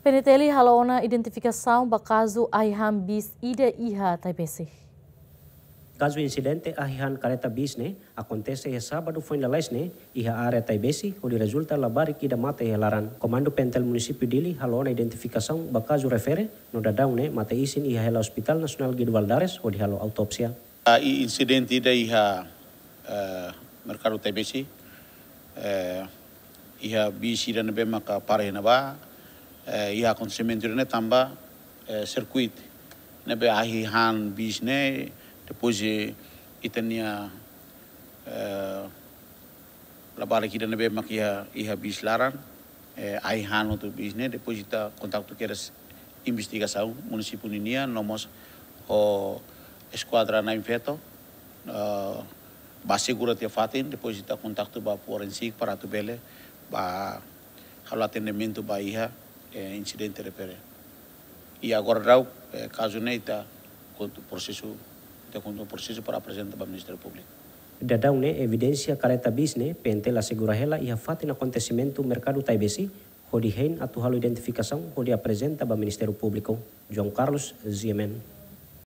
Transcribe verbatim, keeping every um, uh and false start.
PNTL halo ona identifikasaun ba kazu ahi han bis ida iha Taibesi. Kazu insidente ahi han kareta bis ne'e akontese iha sábadu foin lalais ne'e iha área Taibesi, hodi rezulta labarik ida mate iha laran. Komandu PNTL Munisípiu Dili halo ona identifikasaun ba kazu refere, no daudaun ne'e mate-isin iha hela Hospital Nasionál Guido Valadares hodi halo autópsia. Ah, i insidente ida iha, eh, Merkadu Taibesi, eh, iha bis ida ne'ebé maka para iha ne'ebá, eh, iha akontesimentu ida ne'e tanba, eh, sirkuitu ne'ebé ahi han bis ne'e, depois, eh, ita-nia, eh, labarik ida ne'ebé mak iha, iha bis laran, eh, ahi han hotu bis ne'e, depois ita kontaktu kedas investigasaun munisípiu ninian, no mós ho eskuadra na'in-feto, eh, ba asegura tiha fatin, depois ita kontaktu ba forensik para atu bele ba halo atendimentu ba iha, eh, insidente refere. I agora daudaun, eh, kazu ne'e ita kontu prosesu, ita kontu prosesu para aprezenta ba Ministériu Públiku. Daudaun ne'e evidénsia kareta bis ne'e PNTL asegura hela iha fatin akontesimentu Merkadu Taibesi, hodi hein atu halo identifikasaun hodi aprezenta ba Ministériu Públiku. João Carlos, G M N.